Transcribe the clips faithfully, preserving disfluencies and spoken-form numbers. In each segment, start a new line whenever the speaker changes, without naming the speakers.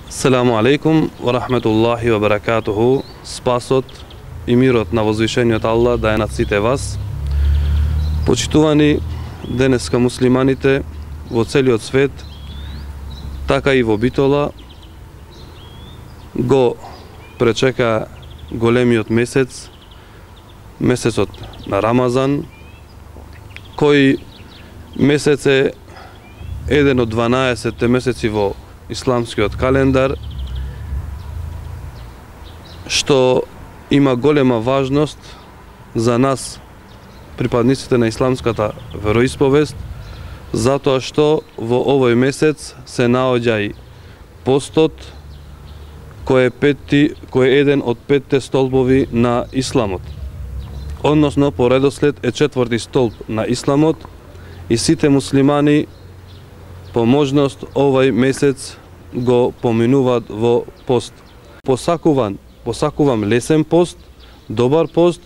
Селаму алейкум ва рахметуллахи ва баракатуху. Спасот и мирот на возвишениот Аллах да е над сите вас. Почитувани денеска муслиманите во целиот свет, така и во Битола, го пречека големиот месец, месецот на Рамазан, кој месец е еден од дванаесетте месеци во исламскиот календар, што има голема важност за нас, припадниците на исламската вероисповест, затоа што во овој месец се наоѓа и постот, кој е, петти, кој е еден од петте столбови на исламот. Односно, по редослед е четврти столб на исламот и сите муслимани по можност овој месец го поминуваат во пост. Посакуван, посакувам лесен пост, добар пост,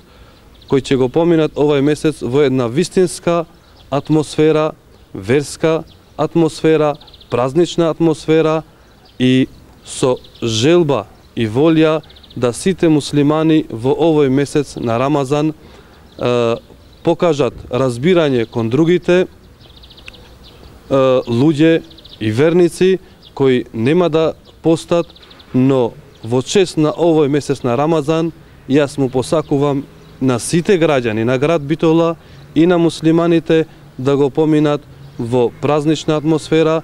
кој ќе го поминат овој месец во една вистинска атмосфера, верска атмосфера, празнична атмосфера и со желба и волја да сите муслимани во овој месец на Рамазан е, покажат разбирање кон другите е, луѓе и верници кои нема да постат, но во чест на овој месец на Рамазан јас му посакувам на сите граѓани на град Битола и на муслиманите да го поминат во празнична атмосфера